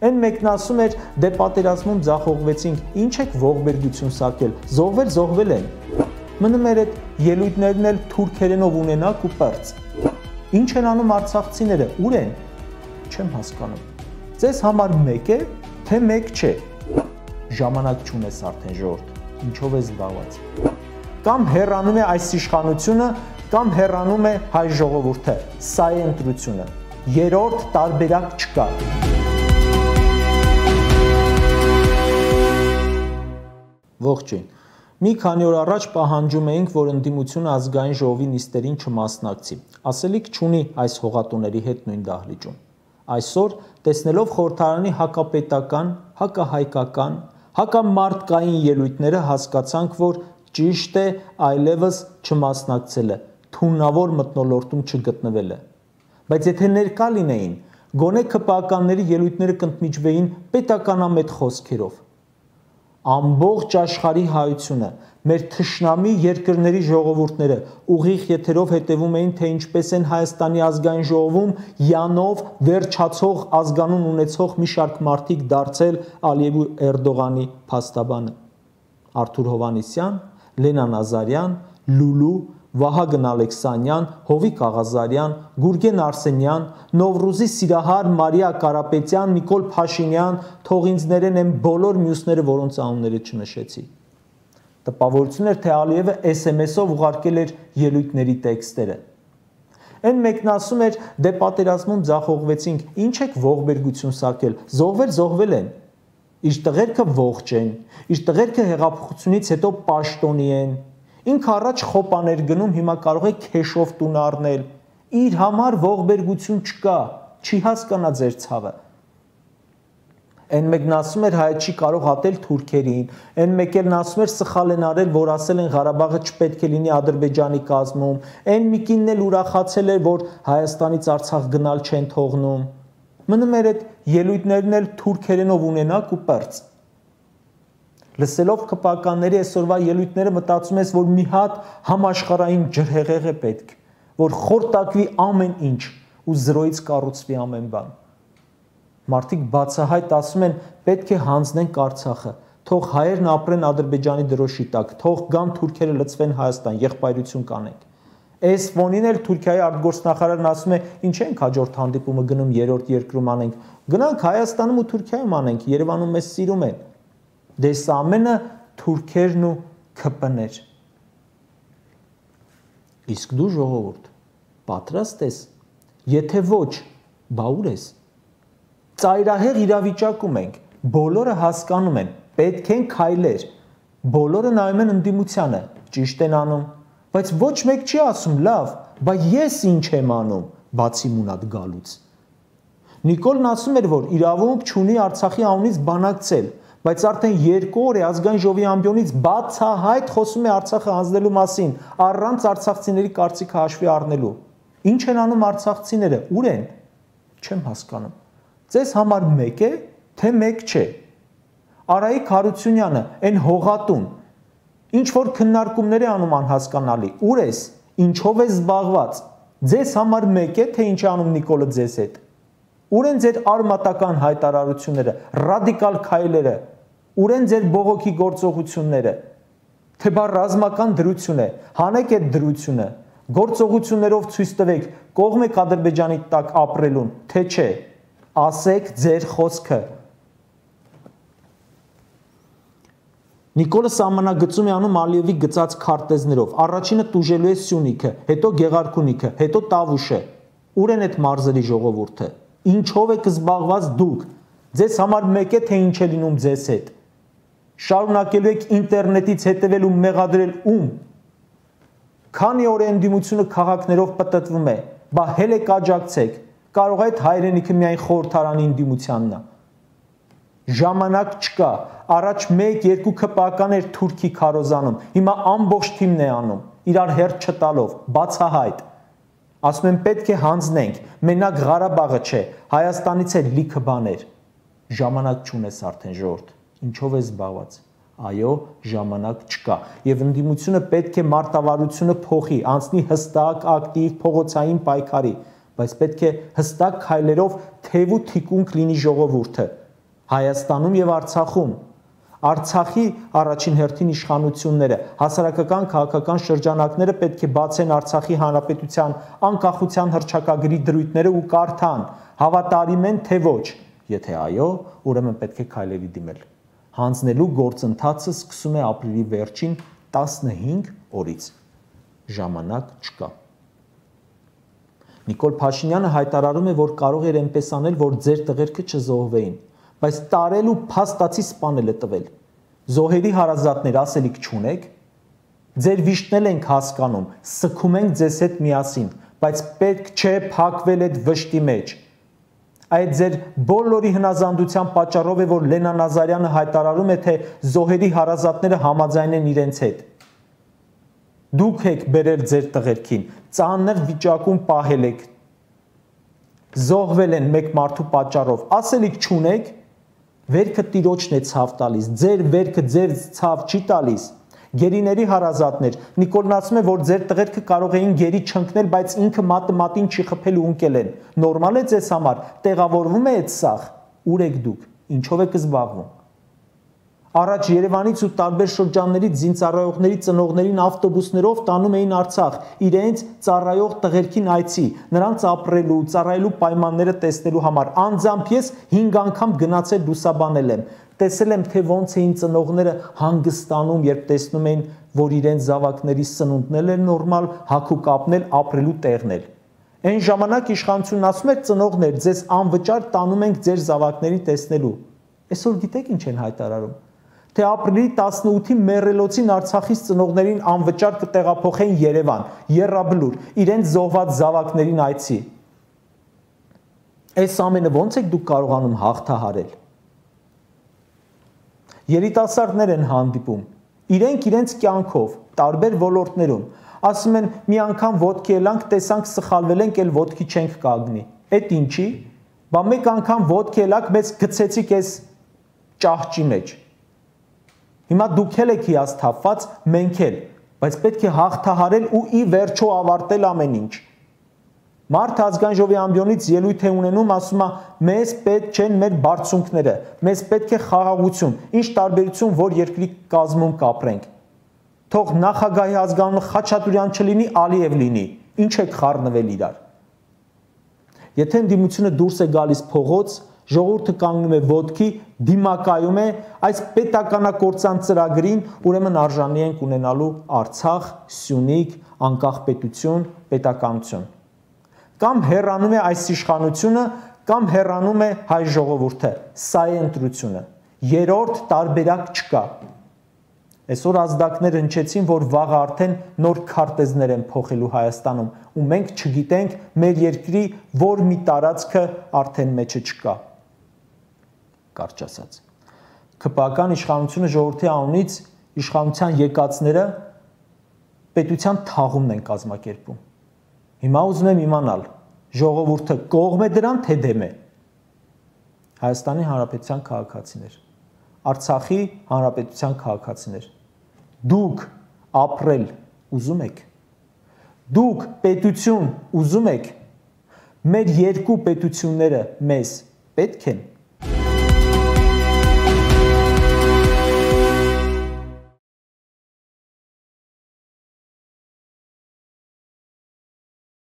Են մեկն ասում էր, դե պատերազմում ձախողվեցինք, ինչ եք ողբերգություն սարքել, զոհվել են։ Մնում էր այդ ելույթներն էլ թուրքերենով ունենակ ու պրծ։ Ինչ են անում արցախցիները, ուր են։ Չեմ հասկանում։ Ձեզ համար մեկ է, թե մեկ չէ։ Ժամանակ չունես արդեն ժողովուրդ, ինչով է զբաղված։ Կամ հեռանում է այս իշխանությունը, կամ հեռանում է հայ ժողովուրդը։ Սա է ընտրությունը։ Երրորդ տարբերակ չկա։ Ողջույն։ Մի քանի օր առաջ պահանջում էինք, որ ընդդիմությունը ազգային ժողովի նիստերին չմասնակցի։ Ասելիք չունի այս հողատուների հետ նույն դահլիճում։ Այսօր, տեսնելով խորհրդարանի հակապետական, հակահայկական, հակամարտկային ելույթները հասկացանք, որ ճիշտ է այլևս չմասնակցելը, թունավոր մթնոլորտում չգտնվելը։ Բայց եթե ներկա լինեին, գոնե ԿՊԱ-կանների ելույթները կընդմիջվեին պետականամետ խոսքերով։ Ամբողջ աշխարհի հայությունը, մեր թշնամի երկրների ժողովուրդները ուղիղ եթերով հետևում էին, թե ինչպես են Հայաստանի ազգային ժողովում յանով վերջացող ազգանուն ունեցող մի շարք մարդիկ դարձել Ալիև ու Էրդողանի փաստաբանը։ Արթուր Հովհաննիսյան, Լենա Նազարյան, Լուլու, Վահագն Ալեքսանյան, Հովիկ Աղազարյան, Գուրգեն Արսենյան, Նովրուզի Սիրահար Մարիա Կարապետյան, Նիկոլ Փաշինյան, թող ինձ ներեն են բոլոր մյուսները, որոնց անունները չնշեցի։ Տպավորություն էր, թե Ալիևը SMS-ով ուղարկել էր ելույթների տեքստերը։ Են մեկն ասում էր, դե պատերազմում ձախողվեցինք, ինչ եք ողբերգություն սարքել, զոհվել են։ Իր տղերքը ողջ են, իր տղերքը հեղափոխությունից հետո պաշտոնի են։ Ինքը առաջ խոպաներ գնում, հիմա կարող է քեշով տուն առնել։ Իր համար ողբերգություն չկա, չի հասկանա ձեր ցավը։ Են մեկն ասում էր հայ չի կարող ատել թուրքերին, են մեկն ասում էր սխալ են արել, որ ասել են Ղարաբաղը չպետք է լինի Ադրբեջանի կազմում, են միկինն էլ ուրախացել էր, որ Հայաստանից Արցախ գնալ չեն թողնում։ Մնում էր այդ ելույթներն էլ թուրքերենով ունենակ ու պրծ։ Լսելով ԿՊԱ-կանների այսօրվա ելույթները մտածում ես, որ մի հատ համաշխարհային ջրհեղեղ է պետք, որ խորտակվի ամեն ինչ ու զրոյից կառուցվի ամեն բան։ Մարդիկ բացահայտ ասում են, պետք է հանձնենք Արցախը, թող հայերն ապրեն Ադրբեջանի դրոշի տակ, թող գան թուրքերը լցվեն Հայաստան, եղբայրություն կանենք։ Այս ֆոնին էլ Թուրքիայի արտգործնախարարն ասում է, ինչ ենք հաջորդ հանդիպումը գնում երրորդ երկրում անենք, գնանք Հայաստանում ու Թուրքիայում անենք, Երևանում մեզ սիրում են։ Դե սա ամենը թուրքերն ու ՔՊ-ներ։ Իսկ դու ժողովուրդ, պատրաստ ես։ Եթե ոչ, բա ուր ես։ Ծայրահեղ իրավիճակում ենք, բոլորը հասկանում են, պետք են քայլեր։ Բոլորը նայում են ընդդիմությանը, ճիշտ են անում, բայց ոչ մեկ չի ասում, լավ, բա ես ինչ եմ անում, բացի մունատ գալուց։ Նիկոլն ասում էր, որ իրավունք չունի Արցախի անունից բանակցել, բայց արդեն 2 օր է ազգային ժողովի ամբիոնից բացահայտ խոսում է Արցախը հանձնելու մասին, առանց արցախցիների կարծիքը հաշվի առնելու։ Ինչ են անում արցախցիները, ուր են։ Չեմ հասկանում։ Ձեզ համար մեկ է, թե մեկ չէ։ Արայիկ Հարությունյանը, այն հողատուն, ինչ որ քննարկումներ է անում անհասկանալի, ուր ես, ինչով ես զբաղված։ Ձեզ համար մեկ է, թե ինչ է անում Նիկոլը ձեզ հետ։ Ուր են ձեր արմատական հայտարարությունները, ռադիկալ քայլերը, ուր են ձեր բողոքի գործողությունները, թե բա ռազմական դրություն է, հանեք այդ դրությունը, գործողություններով ցույց տվեք, կողմ եք Ադրբեջանի տակ ապրելուն, թե չէ, ասեք ձեր խոսքը։ Նիկոլը սահմանագծում է անում Ալիևի գծած քարտեզներով, առաջինը տուժելու է Սյունիքը, հետո Գեղարքունիքը, հետո Տավուշը, ուր են այդ մարզերի ժողովուրդը։ Ինչով եք զբաղված դուք, ձեզ համար մեկ է, թե ինչ է լինում ձեզ հետ։ Շարունակելու եք ինտերնետից հետևել ու մեղադրել ում։ Քանի օր է ընդդիմությունը քաղաքներով պտտվում է, բա հել եք աջակցեք, կարող է այդ հայրենիքը միայն խորհրդարանի ընդդիմությանն է։ Ժամանակ չկա, առաջ 1-2 ԿՊԱ-կաներ Թուրքի քարոզանում, հիմա ամբողջ թիմն է անում, իրար հերթ չտալով, բացահայտ։ Ասում են պետք է հանձնենք, մենակ Ղարաբաղը չէ, Հայաստանից էլ լիքը բաներ։ Ժամանակ չունես արդեն ժողովուրդ, ինչով է զբաղված։ Այո, ժամանակ չկա, եւ ընդդիմությունը պետք է մարտավարությունը փոխի, անցնի հստակ, ակտիվ, փողոցային պայքարի, բայց պետք է հստակ քայլերով թև ու թիկունք լինի ժողովուրդը։ Հայաստանում եւ Արցախում։ Արցախի առաջին հերթին իշխանությունները, հասարակական քաղաքական շրջանակները պետք է բացեն Արցախի հանրապետության անկախության հռչակագրի դրույթները ու կարդան, հավատարիմ են թե ոչ։ Եթե այո, ուրեմն պետք է քայլերի դիմել։ Հանձնելու գործընթացը սկսում է ապրիլի վերջին 15 օրից։ Ժամանակ չկա։ Նիկոլ Փաշինյանը հայտարարում է, որ կարող էր այնպես անել, որ ձեր տղերքը չզոհվեին, բայց տարել ու փաստացի սպանել է տվել։ Զոհերի հարազատներ ասելիք չունեք, ձեր վիշտն ենք հասկանում, սգում ենք ձեզ հետ միասին, բայց պետք չէ փակվել այդ վշտի մեջ։ Այդ ձեր բոլորի հնազանդության պատճառով է, որ Լենա Նազարյանը հայտարարում է, թե զոհերի հարազատները համաձայն են իրենց հետ։ Դուք եք բերել ձեր տղերքին, ծանր վիճակում պահել եք, զոհվել են մեկ մարդու պատճառով, ասելիք չունեք, վերքը տիրոջն է ցավ տալիս, ձեր վերքը ձեր ցավ չի տալիս։ Գերիների հարազատներ, Նիկոլն ասում է, որ ձեր տղերքը կարող էին գերի չընկնել, բայց ինքը մատը մատին չի խփել ու ընկել են։ Նորմալ է ձեզ համար, տեղավորվում է այդ սախ, ուր եք դուք, ինչով եք զբաղվում։ Առաջ Երևանից ու տարբեր շրջաններից զինծառայողների ծնողներին ավտոբուսներով տանում էին Արցախ, իրենց ծառայող տղերքին այցի, նրանց ապրելու, ծառայելու պայմանները տեսնելու համար։ Անձամբ ես 5 անգամ գնացել լուսաբանել եմ, տեսել եմ, թե ոնց էին ծնողները հանգստանում, երբ տեսնում էին, որ իրենց զավակների սնունդն է նորմալ, հագու կապնել, ապրելու տեղն է։ Այն ժամանակ իշխանությունն ասում էր ծնողներ, ձեզ անվճար տանում ենք ձեր զավակներին տեսնելու։ Այսօր գիտեք ինչ են հայտարարում։ Թե ապրիլի 18-ին մեռելոցին Արցախից ծնողներին անվճար կտեղափոխեն Երևան, Եռաբլուր, իրենց զոհված զավակներին այցի։ Այս ամենը ո՞նց եք դուք կարողանում հաղթահարել։ Երիտասարդներ են հանդիպում, իրենք իրենց կյանքով, տարբեր ոլորտներում, ասում են մի անգամ ոտքի եlank, տեսանք սխալվել ենք, էլ ոտքի չենք կանգնի։ Էդ ինչի։ Բա մեկ անգամ ոտքի եlank մեզ գցեցիք այս ճահճի մեջ։ Հիմա դուք եք հիասթափված, մենք էլ, բայց պետք է հաղթահարել ու ի վերջո ավարտել ամեն ինչ։ Մարդ ազգային ժողովի ամբիոնից ելույթ է ունենում, ասում է, մեզ պետք չեն մեր բարձունքները, մեզ պետք է խաղաղություն, ինչ տարբերություն, որ երկրի կազմում կապրենք։ Թող նախագահի ազգանունը Խաչատուրյան չլինի, Ալիև լինի, ինչ եք խառնվել իրար։ Եթե ընդդիմությունը դուրս է գալիս փողոց, ժողովուրդը կանգնում է ոտքի, դիմակայում է այս պետականակործան ծրագրին, ուրեմն արժանի ենք ունենալու Արցախ, Սյունիք, անկախ պետություն, պետականություն։ Կամ հեռանում է այս իշխանությունը, կամ հեռանում է հայ ժողովուրդը։ Սա է ընտրությունը։ Երրորդ տարբերակ չկա։ Այսօր ազդակներ հնչեցին, որ վաղը արդեն նոր քարտեզներ են փոխելու Հայաստանում, ու մենք չգիտենք մեր երկրի որ մի տարածքը արդեն մեջը չկա։ Կարճ ասած։ ԿՊԱ-ական իշխանությունը ժողովրդի անունից իշխանության եկածները պետության թաղումն են կազմակերպում։ Հիմա ուզում եմ իմանալ, ժողովուրդը կողմ է դրան, թե դեմ է։ Հայաստանի Հանրապետության քաղաքացիներ, Արցախի Հանրապետության քաղաքացիներ, դուք ապրել ուզում եք, դուք պետություն ուզում եք, մեր երկու պետությունները մեզ պետք են։